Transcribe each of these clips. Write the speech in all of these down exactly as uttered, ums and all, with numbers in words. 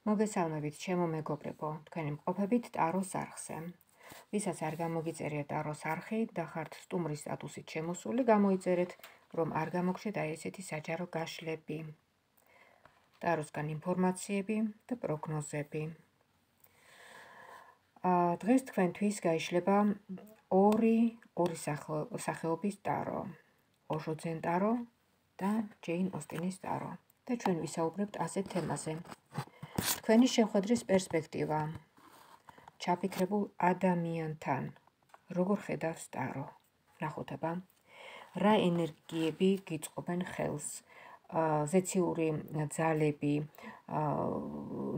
მოგესალმებით, ჩემო მეგობრებო, თქვენი მყოფებით ტაროს არხზე. ვისაც არ გამოგიწერია ტაროს არხი და ხართ სტუმრის სტატუსით შემოსული, გამოიწერეთ, რომ არ გამოგჩეთ აი ესეთი საჯარო გაშლები, ტაროსგან ინფორმაციები და პროგნოზები. დღეს თქვენთვის გაიშლება ორი ორი სახეობის ტარო, ოშო ძენ ტარო და ჯეინ ოსტინის ტარო. და ჩვენ ვისაუბრებთ ასეთ თემაზე. თქვენი შეხვედრის პერსპექტივა ჩაფიქრებულ ადამიანთან, როგორ ხედავს ტარო? ნახოთ აბა, რა ენერგიები გიწყობენ ხელს, ზეციური ძალები,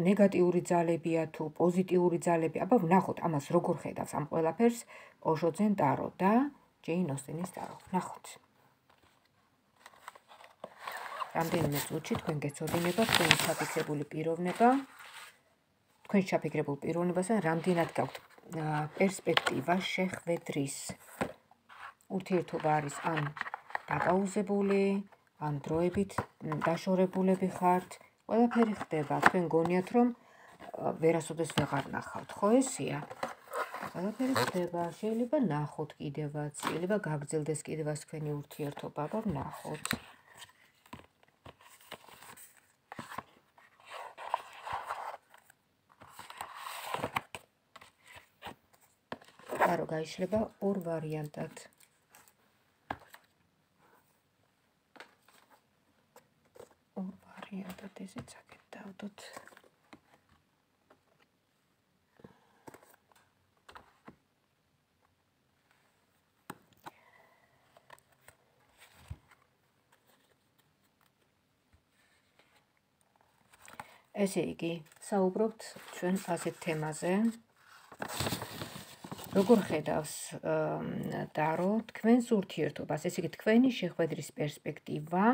ნეგატიური ძალებია თუ პოზიტიური ძალები, აბა ვნახოთ ამას როგორ ხედავს ამ ყველაფერს ოშო ძენ ტარო და ჯეინ ოსტინის ტარო. ნახოთ. რამდენიმე წუთში თქვენ გეცოდინება თქვენი ჩაფიქრებული პიროვნება, თქვენ ჩაფიქრებულ პიროვნებასთან რამდენად გაქვთ პერსპექტივა შეხვედრის. ურთიერთობა არის ან დაკაუზებული, ან დროებით დაშორებულები ხართ, ყველაფერი ხდება, თქვენ გონიათ რომ ვერასოდეს ვეღარ ნახავთ, ხო ესეა? ყველაფერი ხდება, შეიძლება ნახოთ კიდევაც, შეიძლება გაგრძელდეს კიდევაც თქვენი ურთიერთობა, აბა ვნახოთ. ტარო გაიშლება ორ ვარიანტად. ორ ვარიანტად ესეც აქეთ დავდოთ. ესე იგი, საუბრობთ ჩვენ ასეთ თემაზე. როგორ ხედავს ტარო თქვენს ურთიერთობას, ესე იგი თქვენი შეხვედრის პერსპექტივა,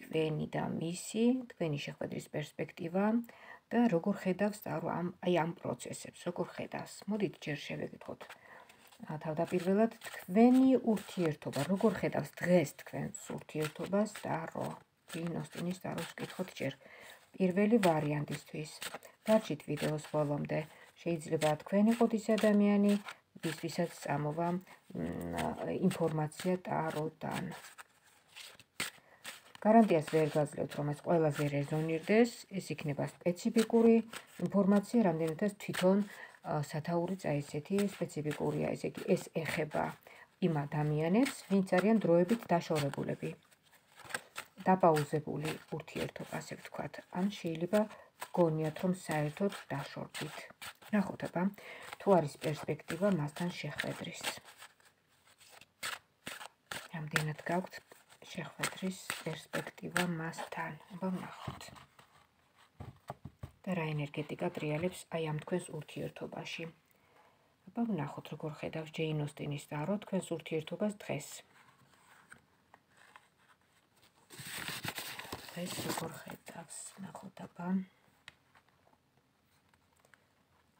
თქვენი და მისი, თქვენი შეხვედრის პერსპექტივა და როგორ ხედავს ტარო ამ აი ამ პროცესებს, როგორ ხედავს. მოდით ჯერ შევეკითხოთ. თავდაპირველად თქვენი ურთიერთობა, როგორ ხედავს დღეს თქვენს ურთიერთობას ტარო? ჯეინ ოსტინის ტაროს ვკითხოთ ჯერ. პირველი ვარიანტისთვის. დარჩით ვიდეოს ბოლომდე. შეიძლება თქვენ იყოთ ის ადამიანი, ვისაც წამოვა ინფორმაცია ტაროდან. გარანტიას ვერ გაძლევთ, რომ ეს ყველაზე რეზონირდეს, ეს იქნება სპეციფიკური ინფორმაცია, რამდენადაც თვითონ სათაურიც აი ესეთი სპეციფიკურია, ესე იგი ეს ეხება იმ ადამიანებს, ვინც არიან დროებით დაშორებულები. დაპაუზებული ურთიერთობა, ასე ვთქვათ, ან შეიძლება გონიათ, რომ საერთოდ დაშორდით. ნახოთ აბა, თუ არის პერსპექტივა მასთან შეხვედრის. რამდენად გაქვთ შეხვედრის პერსპექტივა მასთან, აბა ვნახოთ. და რა ენერგეტიკა ტრიალებს აი ამ თქვენს ურთიერთობაში. აბა ვნახოთ, როგორ ხედავს ჯეინ ოსტინის ტარო თქვენს ურთიერთობას დღეს. დღეს როგორ ხედავს, ნახოთ აბა.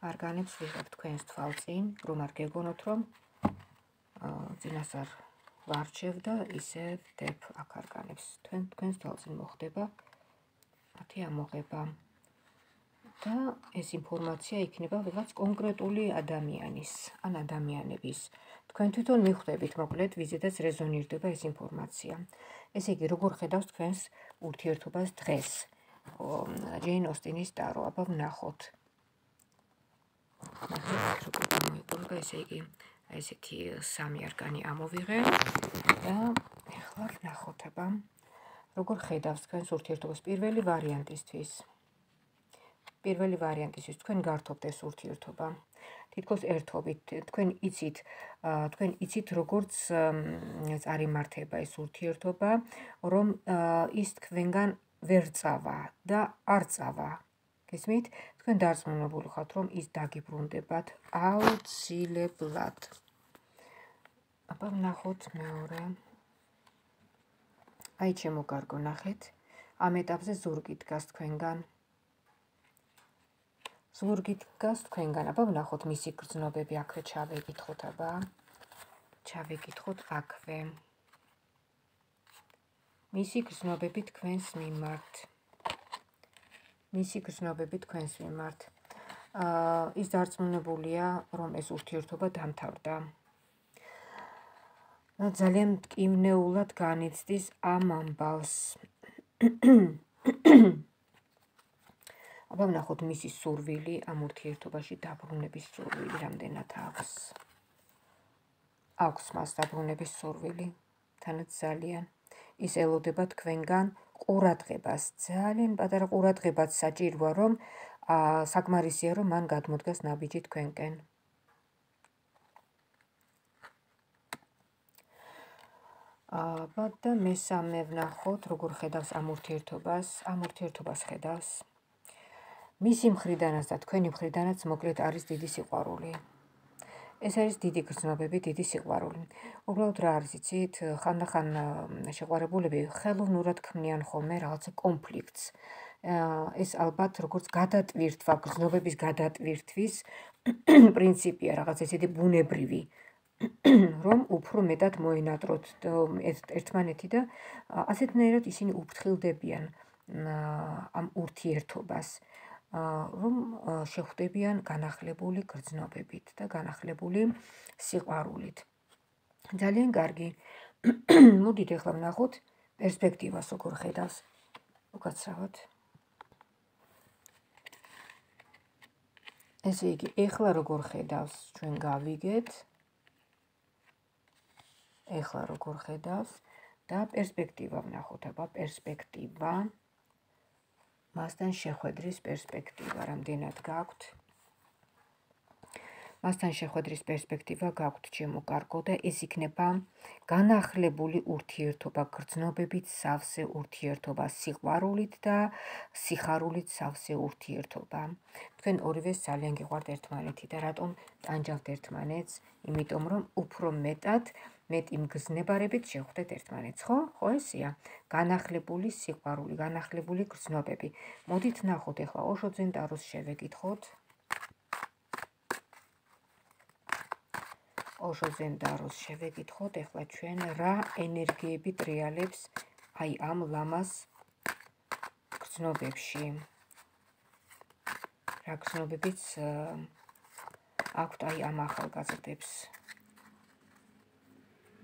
არგანებს ვიღებ თქვენს თვალწინ, რომ არ გეგონოთ, რომ წინასწარ ვარჩევ და ისე ვდებ აქ არგანებს. თქვენ თქვენს თვალწინ მოხდება მათი ამოღება. და ეს ინფორმაცია იქნება ვიღაც კონკრეტული ადამიანის, ან ადამიანების. თქვენ თვითონ მიხვდებით, მოკლედ, ვიზედაც რეზონირდება ეს ინფორმაცია. ესე იგი, როგორ ხედავს თქვენს ურთიერთობას დღეს? ჯეინ ოსტინის ტარო, აბა ვნახოთ. ნახეთ, როგორ გამოიყურება, ესე იგი, აი ესეთი სამი არგანი ამოვიღე და ეხლა ვნახოთ, აბა, როგორ ხედავს თქვენს ურთიერთობას პირველი ვარიანტისთვის. პირველი ვარიანტისთვის თქვენ გართობთ ეს ურთიერთობა. თითქოს ერთობით, თქვენ იცით, თქვენ იცით, როგორც წარიმართება ეს ურთიერთობა, რომ ის თქვენგან ვერ წავა და არ წავა. გესმით? თქვენ დარწმუნებული ხართ, რომ ის დაგიბრუნდებათ აუცილებლად. აბა ვნახოთ მეორე. აი ჩემო კარგო, ნახეთ, ამ ეტაპზე ზურგი დგას თქვენგან. ზურგი დგას თქვენგან, აბა ვნახოთ მისი გრძნობები, აქვე ჩავეკითხოთ, აბა. ჩავეკითხოთ აქვე. მისი გრძნობები თქვენს მიმართ. მისი გრძნობები თქვენს მიმართ. ის დარწმუნებულია, რომ ეს ურთიერთობა დამთავრდა. ძალიან მტკივნეულად განიცდის ამ ამბავს. აბა ვნახოთ მისი სურვილი ამ ურთიერთობაში დაბრუნების სურვილი რამდენად აქვს. აქვს მას დაბრუნების სურვილი, თანაც ძალიან. ის ელოდება თქვენგან ყურადღებას, ძალიან პატარა ყურადღებაც საჭიროა, რომ საკმარისია, რომ მან გადმოდგას ნაბიჯი თქვენკენ. აბა და მესამე ვნახოთ, როგორ ხედავს ამ ურთიერთობას, ამ ურთიერთობას ხედავს. მისი მხრიდანაც და თქვენი მხრიდანაც მოკლედ არის დიდი სიყვარული. ეს არის დიდი გრძნობები, დიდი სიყვარული. უბრალოდ რა არის იცით, ხანდახან შეყვარებულები ხელოვნურად ქმნიან ხოლმე რაღაცა კონფლიქტს. ეს ალბათ როგორც გადატვირთვა, გრძნობების გადატვირთვის პრინციპია, რაღაც ესეთი ბუნებრივი, რომ უფრო მეტად მოენატროთ ერთმანეთი და ასეთნაირად ისინი უფრთხილდებიან ამ ურთიერთობას, რომ შეხვდებიან განახლებული გრძნობებით და განახლებული სიყვარულით. ძალიან კარგი. მოდით ახლა ვნახოთ პერსპექტივას როგორ ხედავს. უკაცრავად. ესე იგი, ახლა როგორ ხედავს, ჩვენ გავიგეთ. ახლა როგორ ხედავს და პერსპექტივა ვნახოთ, აბა პერსპექტივა. მასთან შეხვედრის პერსპექტივა რამდენად გაქვთ? მასთან შეხვედრის პერსპექტივა გაქვთ, ჩემო კარგო, და ეს იქნება განახლებული ურთიერთობა, გრძნობებით სავსე ურთიერთობა, სიყვარულით და სიხარულით სავსე ურთიერთობა. თქვენ ორივეს ძალიან გიყვართ ერთმანეთი და რატომ ტანჯავთ ერთმანეთს? იმიტომ რომ უფრო მეტად მეტი მგზნებარებით შეხვდეთ ერთმანეთს, ხო? ხო ესეა? განახლებული სიყვარული, განახლებული გრძნობები. მოდით ნახოთ ახლა ოშო ძენ ტაროს შევეკითხოთ. ოშო ძენ ტაროს შევეკითხოთ ახლა ჩვენ რა ენერგიები ტრიალებს აი ამ ლამას გრძნობებში. რა გრძნობებიც აქვთ აი ამ ახალგაზრდებს.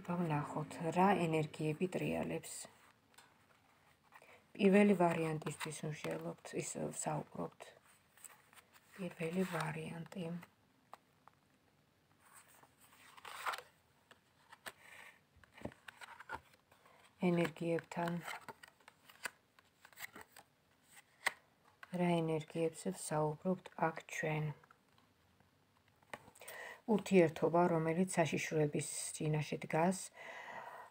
ვნახოთ რა ენერგიები ტრიალებს. პირველი ვარიანტისთვის ვშელობთ, ის საუბრობთ. პირველი ვარიანტი. ენერგიებთან. რა ენერგიებზე ვსაუბრობთ აქ ჩვენ. ურთიერთობა, რომელიც საშიშროების წინაშე დგას.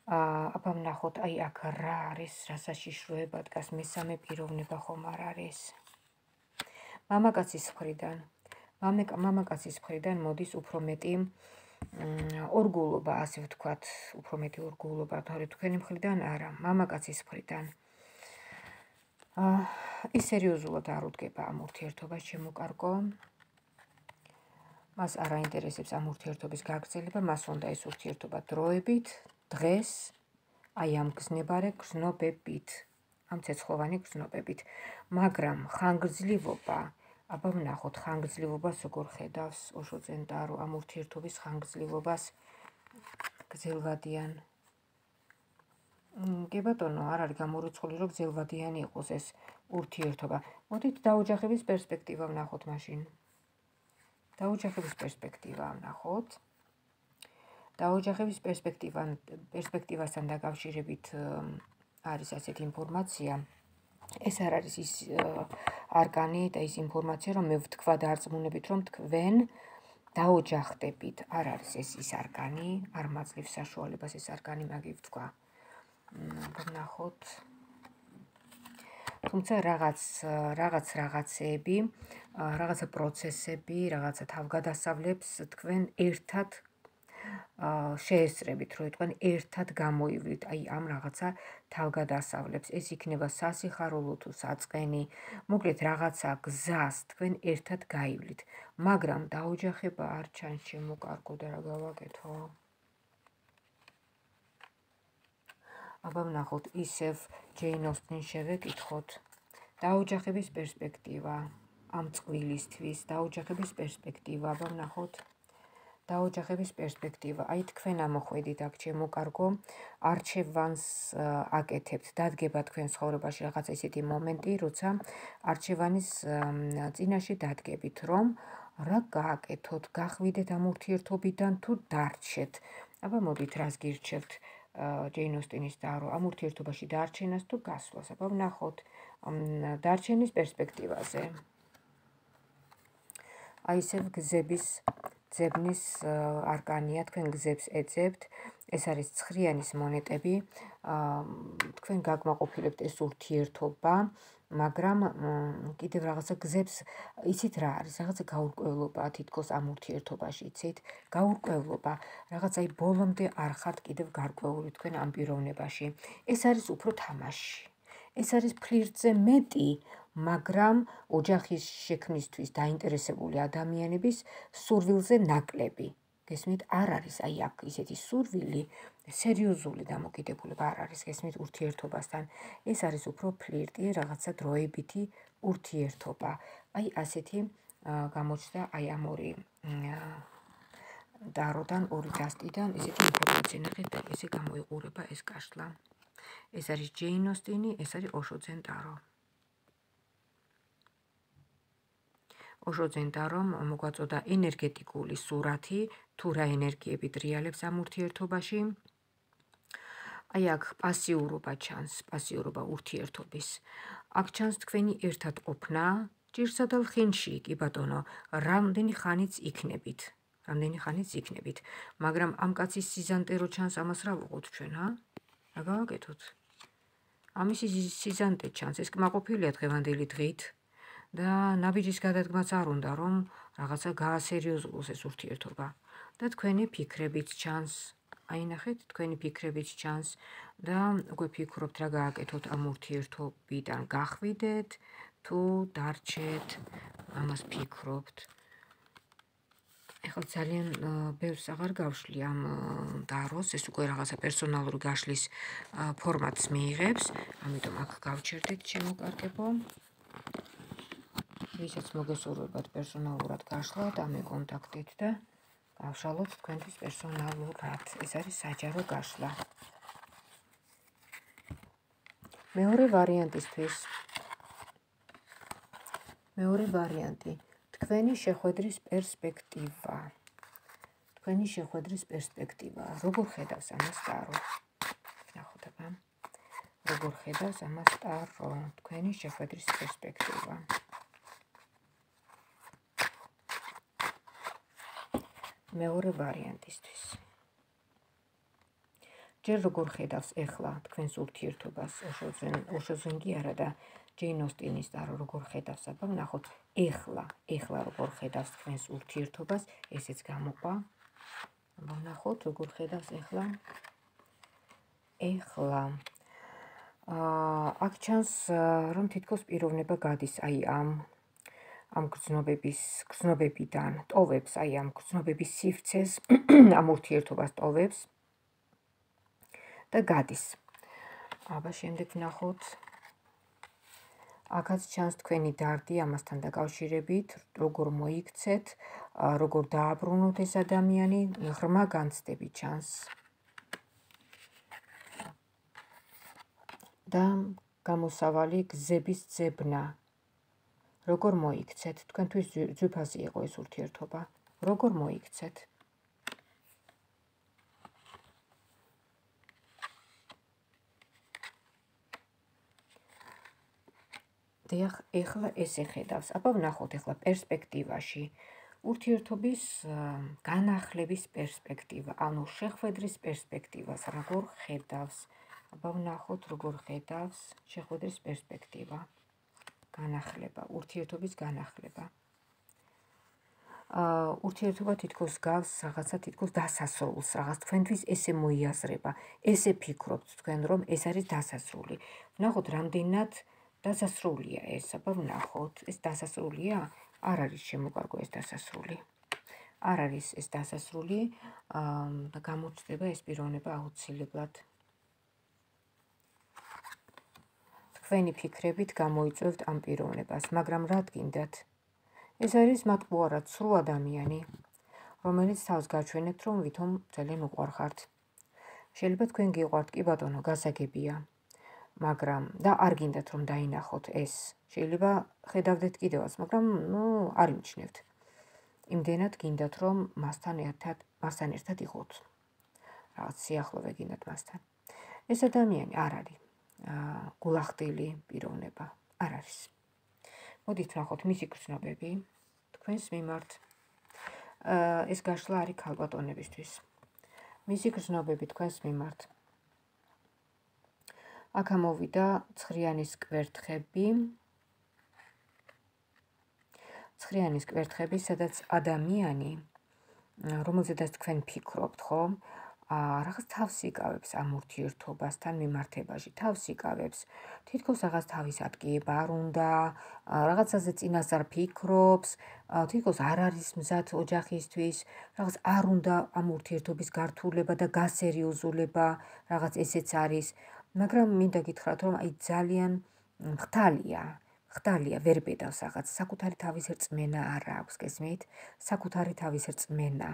აბა ვნახოთ, აი აქ რა არის, რა საშიშროება დგას, მესამე პიროვნება ხომ არ არის. მამაკაცის მხრიდან. მამაკაცის მხრიდან მოდის უფრო მეტი ორგულობა, ასე ვთქვათ, უფრო მეტი ორგულობა, თორე თქვენი მხრიდან არა, მამაკაცის მხრიდან. ის სერიოზულად არ უდგება ამ ურთიერთობას, ჩემო კარგო. მას არ აინტერესებს ამ ურთიერთობის გაგრძელება, მას უნდა ეს ურთიერთობა დროებით, დღეს, აი ამ გზნებარე გზნობებით, ამ ცეცხლოვანი გზნობებით, მაგრამ ხანგრძლივობა, აბა ვნახოთ ხანგრძლივობას როგორ ხედავს ოშო ძენ ტარო ამ ურთიერთობის ხანგრძლივობას გრძელვადიან. კი ბატონო, არ არის გამორიცხული, რომ გრძელვადიანი იყოს ეს ურთიერთობა. მოდით დაოჯახების პერსპექტივა ვნახოთ მაშინ. დაოჯახების პერსპექტივა ვნახოთ. დაოჯახების პერსპექტივასთან დაკავშირებით არის ასეთი ინფორმაცია. ეს არ არის ის არკანი და ის ინფორმაცია, რომ მე ვთქვა დარწმუნებით, რომ თქვენ დაოჯახდებით. არ არის ეს ის არკანი, არ მაძლევს საშუალებას ეს არკანი მაგი ვთქვა. ვნახოთ. თუმცა რაღაც რაღაც რაღაცეები, რაღაცა პროცესები, რაღაცა თავგადასავლებს თქვენ ერთად შეესწრებით, რომ თქვენ ერთად გამოივლით აი ამ რაღაცა თავგადასავლებს. ეს იქნება სასიხარულო თუ საწყენი, მოკლედ რაღაცა გზას თქვენ ერთად გაივლით, მაგრამ დაოჯახება არ ჩანს, ჩემო კარგო, და რა გავაკეთო? აბა ვნახოთ, ისევ ჯეინ ოსტინ შევეკითხოთ დაოჯახების პერსპექტივა, ამ წყვილისთვის დაოჯახების პერსპექტივა, აბა ვნახოთ. დაოჯახების პერსპექტივა. აი თქვენ ამოხვედით აქ ჩემო კარგო, არჩევანს აკეთებთ, დადგება თქვენ ცხოვრებაში რაღაცა ისეთი მომენტი, როცა არჩევანის წინაშე დადგებით, რომ რა გააკეთოთ, გახვიდეთ ამ ურთიერთობიდან თუ დარჩეთ. აბა მოდით, რას გირჩევთ ჯეინ ოსტინის დარო, ამ ურთიერთობაში დარჩენას თუ გასვლას. აბა ვნახოთ დარჩენის პერსპექტივაზე. აი ისევ გზების ძებნის არკანია, თქვენ გზებს ეძებთ, ეს არის ცხრიანის მონეტები, თქვენ გაგმაყოფილებთ ეს ურთიერთობა, მაგრამ კიდევ რაღაცა გზებს, იცით რა არის, რაღაცა გაურკვევლობა თითქოს ამ ურთიერთობაში, იცით? გაურკვევლობა, რაღაც აი ბოლომდე არ ხართ კიდევ გარკვეული თქვენ ამ პიროვნებაში. ეს არის უფრო თამაში. ეს არის ფლირტზე მეტი, მაგრამ ოჯახის შექმნისთვის დაინტერესებული ადამიანების სურვილზე ნაკლები. გესმით, არ არის აი აქ ისეთი სურვილი, სერიოზული დამოკიდებულება არ არის გესმით ურთიერთობასთან. ეს არის უფრო ფლირტი, რაღაცა დროებითი ურთიერთობა. აი ასეთი გამოჩნდა აი ამ ორი დაროდან, ორი დასტიდან, ესეთი ინფორმაცია ნახეთ და ესე გამოიყურება ეს კაშლა. ეს არის ჯეინ ოსტინი, ეს არის ოშოძენ დარო. ოშოძენ დარომ მოგვაწოდა ენერგეტიკული სურათი, თუ რა ენერგიები დრიალებს ამ ურთიერთობაში. აი აქ პასიურობა ჩანს, პასიურობა ურთიერთობის. აქ ჩანს თქვენი ერთად ყოფნა, ჭირსა და ლხინში, კი ბატონო, რამდენი ხანიც იქნებით. რამდენი ხანიც იქნებით, მაგრამ ამ კაცის სიზანტე რო ჩანს, ამას რა ვუყოთ ჩვენ, ჰა? რა გავაკეთოთ? ამის სიზანტე ჩანს, ეს კმაყოფილია დღევანდელი დღით და ნაბიჯის გადადგმაც არ უნდა, რომ რაღაცა გაასერიოზულოს ეს ურთიერთობა. და თქვენი ფიქრებიც ჩანს, აი ნახეთ, თქვენი ფიქრებიც ჩანს და უკვე ფიქრობთ რა გააკეთოთ ამ ურთიერთობიდან გახვიდეთ, თუ დარჩეთ, ამას ფიქრობთ. ეხლა ძალიან ბევრს აღარ გავშლი ამ დაროს, ეს უკვე რაღაცა პერსონალური გაშლის ფორმატს მიიღებს, ამიტომ აქ გავჩერდით ჩემო კარგებო. ვისაც მოგესურვებათ პერსონალურად გაშლათ, ამეკონტაქტით და გავშალოთ თქვენთვის პერსონალურად. ეს არის საჯარო გაშლა. მეორე ვარიანტისთვის. მეორე ვარიანტი. თქვენი შეხვედრის პერსპექტივა. თქვენი შეხვედრის პერსპექტივა. როგორ ხედავს ამას დარო? ნახოთ აბა. როგორ ხედავს ამას დარო? თქვენი შეხვედრის პერსპექტივა. მეორე ვარიანტისთვის. ჯერ როგორ ხედავს ეხლა თქვენს ურთიერთობას, ოშოძენ კი არა და ჯეინ ოსტინის დარო როგორ ხედავს, აბა ვნახოთ. ეხლა, ეხლა როგორ ხედავს თქვენს ურთიერთობას, ესეც გამოყვა. აბა ვნახოთ, როგორ ხედავს ეხლა. ეხლა. აქ ჩანს, რომ თითქოს პიროვნება გადის აი ამ ამ გრძნობების, გრძნობებიდან, ტოვებს, აი ამ გრძნობების სივრცეს, ამ ურთიერთობას ტოვებს და გადის. აბა შემდეგ ვნახოთ. აქაც ჩანს თქვენი დარდი ამასთან დაკავშირებით, როგორ მოიქცეთ, როგორ დააბრუნოთ ეს ადამიანი, ღრმა განცდები ჩანს. და გამოსავალი გზების ძებნა. როგორ მოიქცეთ, თქვენთვის ძვირფასი იყო ეს ურთიერთობა, როგორ მოიქცეთ. დიახ, ეხლა ესე ხედავს. აბა ვნახოთ ეხლა პერსპექტივაში. ურთიერთობის განახლების პერსპექტივა, ანუ შეხვედრის პერსპექტივას როგორ ხედავს. აბა ვნახოთ როგორ ხედავს შეხვედრის პერსპექტივა. განახლება, ურთიერთობის განახლება. ურთიერთობა თითქოს გავს რაღაცა თითქოს დასასრულს, რაღაც თქვენთვის ესე მოიაზრება, ესე ფიქრობთ თქვენ, რომ ეს არის დასასრული. ვნახოთ რამდენად დასასრულია ეს, აბა ვნახოთ, ეს დასასრულია? არ არის შემოკარგო ეს დასასრული. არ არის ეს დასასრული და გამოჩნდება ეს პიროვნება აუცილებლად. თქვენი ფიქრებით გამოიწვევთ ამ პიროვნებას, მაგრამ რა გინდათ? ეს არის მათყუარად სრულ ადამიანი, რომელიც თავს გაჩვენებთ, რომ ვითომ ძალიან უყვარხართ. შეიძლება თქვენ გიყვართ, კი ბატონო, გასაგებია, მაგრამ და არ გინდათ რომ დაინახოთ ეს. შეიძლება ხედავდეთ კიდევაც, მაგრამ ნუ არ იმჩნევთ. იმდენად გინდათ რომ მასთან ერთად, მასთან ერთად იყოთ. რაღაც სიახლოვე გინდათ მასთან. ეს ადამიანი არ არის გულახდილი პიროვნება, არ არის. მოდით ვნახოთ მისი გრძნობები თქვენს მიმართ. ეს გაშლა არის ქალბატონებისთვის. მისი გრძნობები თქვენს მიმართ. აქ ამოვიდა ცხრიანის კვერთხები. ცხრიანის კვერთხები, სადაც ადამიანი, რომელზედაც თქვენ ფიქრობთ, ხო? რაღაც თავს იკავებს ამ ურთიერთობასთან მიმართებაში, თავს იკავებს. თითქოს რაღაც თავის ატკიება არ უნდა, რაღაცაზე წინასწარ ფიქრობს, თითქოს არ არის მზად ოჯახისთვის, რაღაც არ უნდა ამ ურთიერთობის გართულება და გასერიოზულება, რაღაც ესეც არის. მაგრამ მინდა გითხრათ, რომ აი ძალიან ხდალია, ხდალია, ვერ ბედავს რაღაც, საკუთარი თავის რწმენა არ აქვს, გესმით? საკუთარი თავის რწმენა.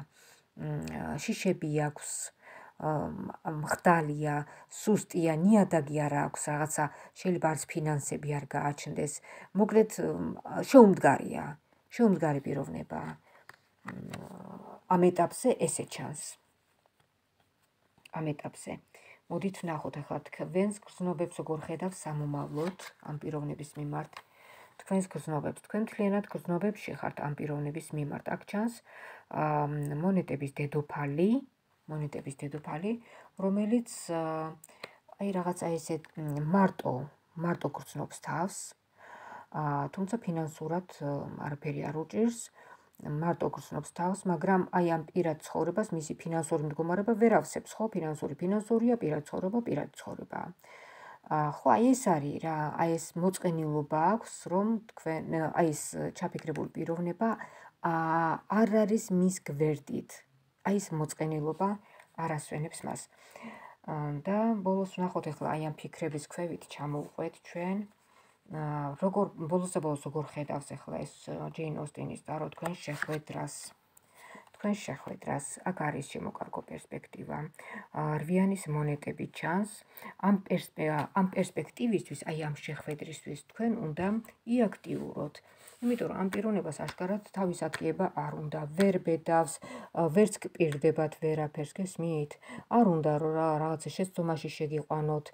შიშები აქვს, ხდალია, სუსტია, ნიადაგი არ აქვს, რაღაცა შეიძლება არც ფინანსები არ გააჩნდეს. მოკლედ შეუმდგარია, შეუმდგარი პიროვნება. ამ ეტაპზე ესე ჩანს. ამ ეტაპზე. მოდით ვნახოთ ახლა თქვენს გრძნობებს როგორ ხედავთ სამომავლოდ ამ პიროვნების მიმართ. თქვენს გრძნობებს, თქვენ მთლიანად გრძნობებში ხართ ამ პიროვნების მიმართ. აქ ჩანს მონეტების დედოფალი, მონეტების დედოფალი, რომელიც აი რაღაცა ესე მარტო, მარტო გრძნობს თავს, თუმცა ფინანსურად არაფერი არ უჭირს, მარტო გრძნობს თავს, მაგრამ აი ამ პირად ცხოვრებას მისი ფინანსური მდგომარეობა ვერ ავსებს, ხო? ფინანსური ფინანსურია, პირად ცხოვრება, პირად ცხოვრება. ხო, აი ეს არის რა, აი ეს მოწყენილობა აქვს, რომ თქვენ აი ეს ჩაფიქრებული პიროვნება არ არის მის გვერდით. აი ეს მოწყენილობა არ ასვენებს მას. და ბოლოს ვნახოთ ახლა აი ამ ფიქრების ქვევით ჩამოვყვეთ ჩვენ. როგორ ბოლოს და ბოლოს როგორ ხედავს ახლა ეს ჯეინ ოსტინის ტარო თქვენ შეხვედრას. თქვენ შეხვედრას, აქ არის შემოკარგო პერსპექტივა. რვიანის მონეტები ჩანს. ამ ამ პერსპექტივისთვის, აი ამ შეხვედრისთვის თქვენ უნდა იაქტიუროთ. იმიტომ რომ ამ პიროვნებას აშკარად თავის ატკიება არ უნდა, ვერ ბედავს, ვერც გპირდებათ ვერაფერს, გესმით? არ უნდა რომ რაღაცა შეცდომაში შეგიყვანოთ,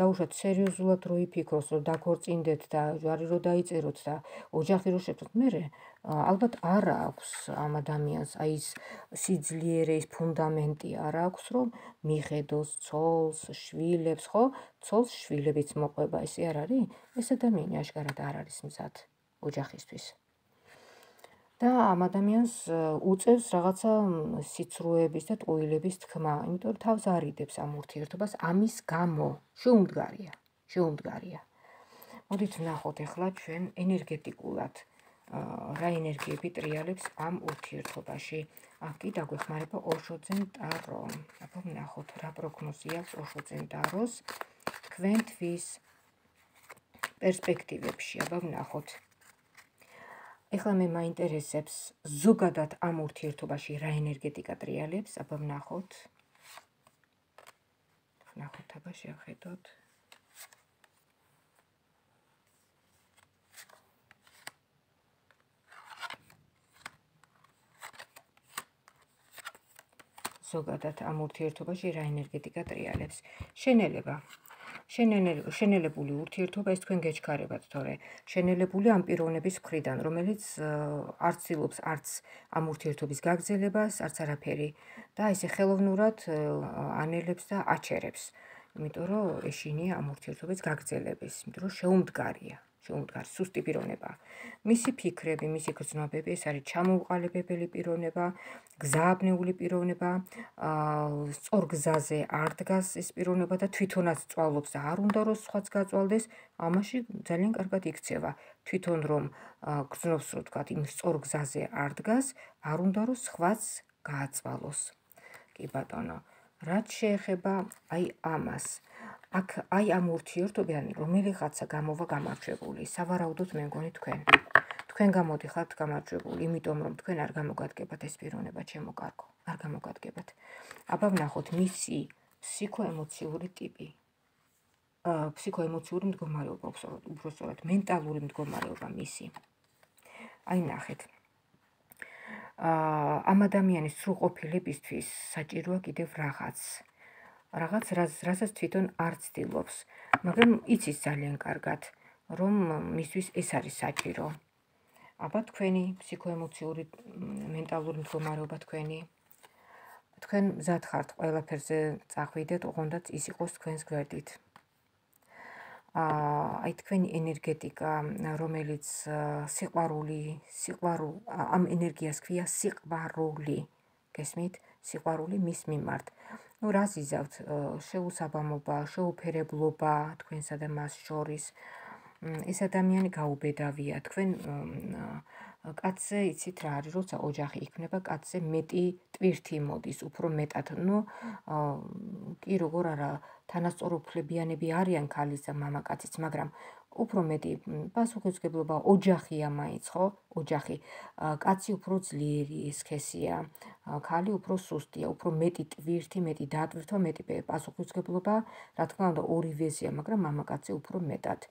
დაუშვათ სერიოზულად რო იფიქროს, რომ დაქორწინდეთ და ჯვარი რო დაიწეროთ და ოჯახი რო შექმნათ, მერე ალბათ არ აქვს ამ ადამიანს აი ეს სიძლიერე, ეს ფუნდამენტი არ აქვს, რომ მიხედოს ცოლს, შვილებს, ხო? ცოლს შვილებიც მოყვება, ესე არ არის? ეს ადამიანი აშკარად არ არის მზად ოჯახისთვის. და ამ ადამიანს უწევს რაღაცა სიცრუეების და ტყუილების თქმა, იმიტომ რომ თავს არიდებს ამ ურთიერთობას, ამის გამო შეუმდგარია, შეუმდგარია. მოდით ვნახოთ ახლა ჩვენ ენერგეტიკულად რა ენერგიები ტრიალებს ამ ურთიერთობაში. აქ კი დაგვეხმარება ოშოძენ ტარო. აბა ვნახოთ რა პროგნოზი აქვს ოშოძენ ტაროს თქვენთვის პერსპექტივებში. აბა ვნახოთ. ეხლა მე მაინტერესებს ზოგადად ამ ურთიერთობაში რა ენერგეტიკა ტრიალებს. აბა ვნახოთ. ვნახოთ, აბა შევხედოთ. ზოგადად ამ ურთიერთობაში რა ენერგეტიკა ტრიალებს. შენელება. შენელებული ურთიერთობა ეს თქვენ გეჩქარებათ, თორე შენელებული ამ პიროვნების მხრიდან, რომელიც არ ცდილობს არც ამ ურთიერთობის გაგრძელებას, არც არაფერი და ესე ხელოვნურად ანელებს და აჩერებს. იმიტომ რომ ეშინია ამ ურთიერთობის გაგრძელების, იმიტომ რომ შეუმდგარია. შეუმდგარი, სუსტი პიროვნება. მისი ფიქრები, მისი გრძნობები, ეს არის ჩამოუყალიბებელი პიროვნება, გზააბნეული პიროვნება, სწორ გზაზე არ დგას ეს პიროვნება და თვითონაც სწავლობს და არ უნდა რომ სხვაც გაწვალდეს, ამაში ძალიან კარგად იქცევა. თვითონ რომ გრძნობს, რომ თქვა, იმ სწორ გზაზე არ დგას, არ უნდა რომ სხვაც გააწვალოს. კი ბატონო, რაც შეეხება აი ამას, აქ აი ამ ურთიერთობიდან რომელიღაცა გამოვა გამარჯვებული, სავარაუდოდ მე მგონი თქვენ. თქვენ გამოდიხართ გამარჯვებული, იმიტომ რომ თქვენ არ გამოგადგებათ ეს პიროვნება ჩემო კარგო, არ გამოგადგებათ. აბა ვნახოთ მისი ფსიქოემოციური ტიპი. ფსიქოემოციური მდგომარეობა, უბრალოდ მენტალური მდგომარეობა მისი. აი ნახეთ. ამ ადამიანის სრულყოფილებისთვის საჭიროა კიდევ რაღაც. რაღაც, რასაც თვითონ არ ცდილობს, მაგრამ იცის ძალიან კარგად, რომ მისთვის ეს არის საჭირო. აბა თქვენი ფსიქოემოციური მენტალური მდგომარეობა თქვენი. თქვენ მზად ხართ ყველაფერზე წახვიდეთ, ოღონდაც ის იყოს თქვენს გვერდით. აი თქვენი ენერგეტიკა, რომელიც სიყვარული, სიყვარული, ამ ენერგიას ქვია სიყვარული. გესმით? სიყვარული მის მიმართ. ნუ რას იზავთ? შეუსაბამობა, შეუფერებლობა თქვენსა და მას შორის. ეს ადამიანი გაუბედავია. თქვენ კაცზე იცით რა არის, როცა ოჯახი იქმნება, კაცზე მეტი ტვირთი მოდის, უფრო მეტად. ნუ კი როგორ არა, თანასწორუფლებიანები არიან ქალის და მამაკაციც, მაგრამ უფრო მეტი პასუხისმგებლობა ოჯახია მაინც, ხო? ოჯახი. კაცი უფრო ძლიერი სქესია, ქალი უფრო სუსტია, უფრო მეტი ტვირთი, მეტი დატვირთვა, მეტი პასუხისმგებლობა, რა თქმა უნდა, ორივეზეა, მაგრამ მამაკაცზე უფრო მეტად.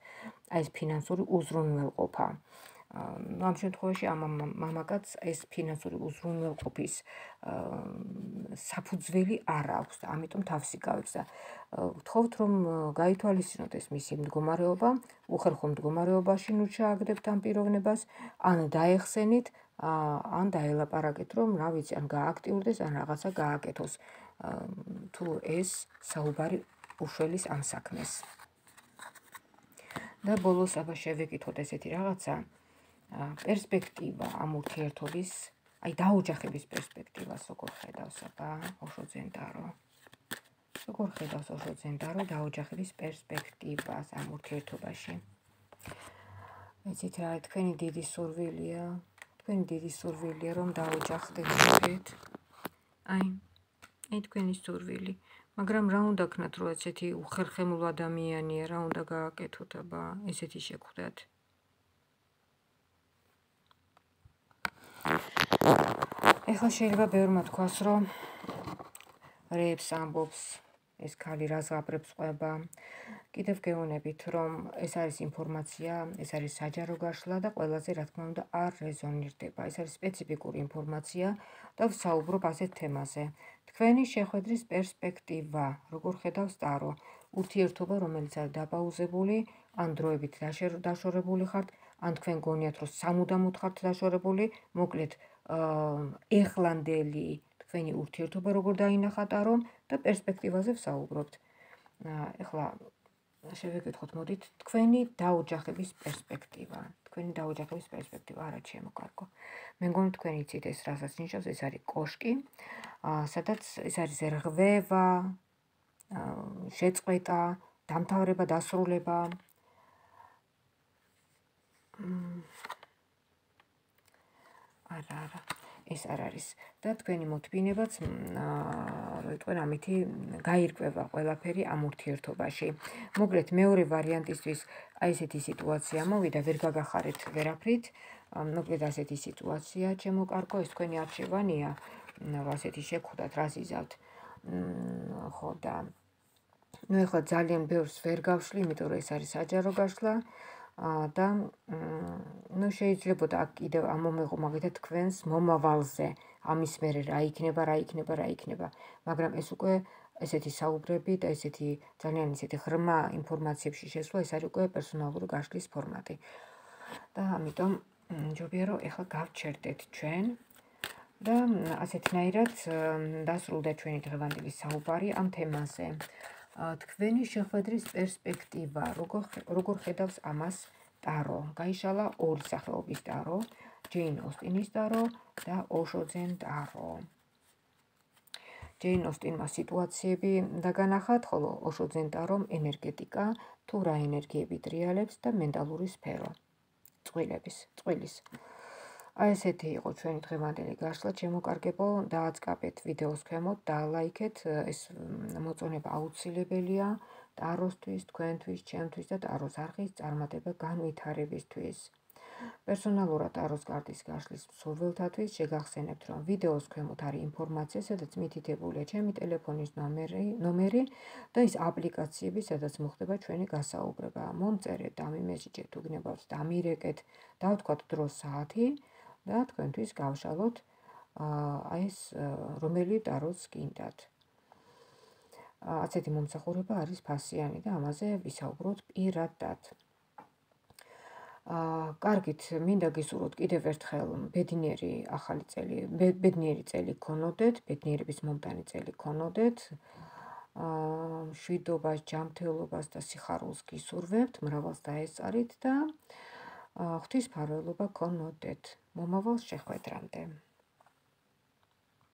აი ეს ფინანსური უზრუნველყოფა. ამ შემთხვევაში ამ მამაკაცს ეს ფინანსური უზრუნველყოფის საფუძველი არ აქვს და ამიტომ თავს იკავებს და ვთხოვთ რომ გაითვალისწინოთ ეს მისი მდგომარეობა, უხერხო მდგომარეობაში ნუ ჩააგდებთ ამ პიროვნებას, ან დაეხსენით, ან დაელაპარაკეთ, რომ რა ვიცი, ან გააქტიურდეს, ან რაღაცა გააკეთოს, თუ ეს საუბარი უშველის ამ საქმეს. და ბოლოს აბა შევეკითხოთ ესეთი რაღაცა, პერსპექტივა ამ ურთიერთობის, აი დაოჯახების პერსპექტივას როგორ ხედავს აბა ოშო ძენტარო. როგორ ხედავს ოშო ძენტარო დაოჯახების პერსპექტივას ამ ურთიერთობაში. იცით რა, თქვენი დიდი სურვილია, თქვენი დიდი სურვილია რომ დაოჯახდეთ შეგეთ. აი, აი თქვენი სურვილი. მაგრამ რა უნდა ქნათ, რომ ესეთი უხერხემლო ადამიანია, რა უნდა გააკეთოთ აბა, ესეთი შეგხვდათ. ეხლა შეიძლება ბევრმა თქვას, რომ რეებს ამბობს, ეს ქალი რას ღაბრებს ყვება. კიდევ გეუბნებით, რომ ეს არის ინფორმაცია, ეს არის საჯარო გაშლა და ყველაზე რა თქმა უნდა არ რეზონირდება. ეს არის სპეციფიკური ინფორმაცია და ვსაუბრობ ასეთ თემაზე. თქვენი შეხვედრის პერსპექტივა, როგორ ხედავს ტარო, ურთიერთობა, რომელიც არის დაპაუზებული, ან დროებით დაშორებული ხართ, ან თქვენ გონიათ, რომ სამუდამოდ ხართ დაშორებული, მოკლედ ეხლანდელი თქვენი ურთიერთობა როგორ დაინახა ტარომ და პერსპექტივაზე ვსაუბრობთ. ეხლა შევეკითხოთ, მოდით, თქვენი დაოჯახების პერსპექტივა. თქვენი დაოჯახების პერსპექტივა, არა ჩემო კარგო. მე მგონი თქვენ იცით ეს რასაც ნიშნავს, ეს არის კოშკი, სადაც ეს არის რღვევა, შეწყვეტა, დამთავრება, დასრულება. არა, არა, ეს არ არის. და თქვენი მოთმინებაც, რო იტყვენ, ამითი გაირკვევა ყველაფერი ამ ურთიერთობაში. მოკლედ, მეორე ვარიანტისთვის აი ესეთი სიტუაცია მოვიდა, ვერ გაგახარეთ ვერაფრით. მოკლედ ასეთი სიტუაცია, ჩემო კარგო, ეს თქვენი არჩევანია, ასეთი შეგხვდათ, რას იზავთ. ხო და ნუ ეხლა ძალიან ბევრს ვერ გავშლი, იმიტომ რომ ეს არის საჯარო გაშლა. და ნუ შეიძლებოდა აქ კიდევ ამომეღო მაგალითად თქვენს მომავალზე, ამის მერე რა იქნება, რა იქნება, რა იქნება. მაგრამ ეს უკვე ესეთი საუბრები და ესეთი ძალიან ისეთი ღრმა ინფორმაციებში შესვლა, ეს არის უკვე პერსონალური გაშლის ფორმატი. და ამიტომ ჯობია რომ ეხლა გავჩერდეთ ჩვენ და ასეთნაირად დასრულდა ჩვენი დღევანდელი საუბარი ამ თემაზე. თქვენი შეხვედრის პერსპექტივა, როგორ ხედავს ამას ტარო. გაიშალა ორი სახეობის ტარო, ჯეინ ოსტინის ტარო და ოშო ძენ ტარო. ჯეინ ოსტინმა სიტუაციები დაგანახათ, ხოლო ოშო ძენ ტარომ ენერგეტიკა, თუ რა ენერგიები ტრიალებს და მენტალური სფერო, წყვილების, წყვილის. აი ესეთი იყო ჩვენი დღევანდელი გაშლა, შემოკარგებო, დააწყაბეთ ვიდეოს ქვემოთ, დაალაიქეთ, ეს მოწონება აუცილებელია ტაროსთვის, თქვენთვის, ჩემთვის და ტაროს არხის წარმატება განვითარებისთვის. პერსონალურად ტაროს კარტის გაშლის მსურველთათვის შეგახსენებთ, რომ ვიდეოს ქვემოთ არის ინფორმაცია, სადაც მითითებულია ჩემი ტელეფონის ნომერი, ნომერი და ის აპლიკაციები, სადაც მოხდება ჩვენი გასაუბრება. მომწერეთ, დამიმესიჯეთ, უგნებავთ, დამირეკეთ, დავთქვათ დრო საათი და თქვენთვის გავშალოთ აი ეს რომელი ტაროს გინდათ. ასეთი მომსახურება არის ფასიანი და ამაზე ვისაუბროთ პირადად. კარგით, მინდა გისურვოთ კიდევ ერთხელ ბედნიერი ახალი წელი, ბედნიერი წელი გქონოდეთ, ბედნიერების მომტანი წელი გქონოდეთ. მშვიდობას, ჯანმრთელობას და სიხარულს გისურვებთ, მრავალს დაესწარით და ღვთისმფარველობა გქონოდეთ. მომავალ შეხვედრამდე.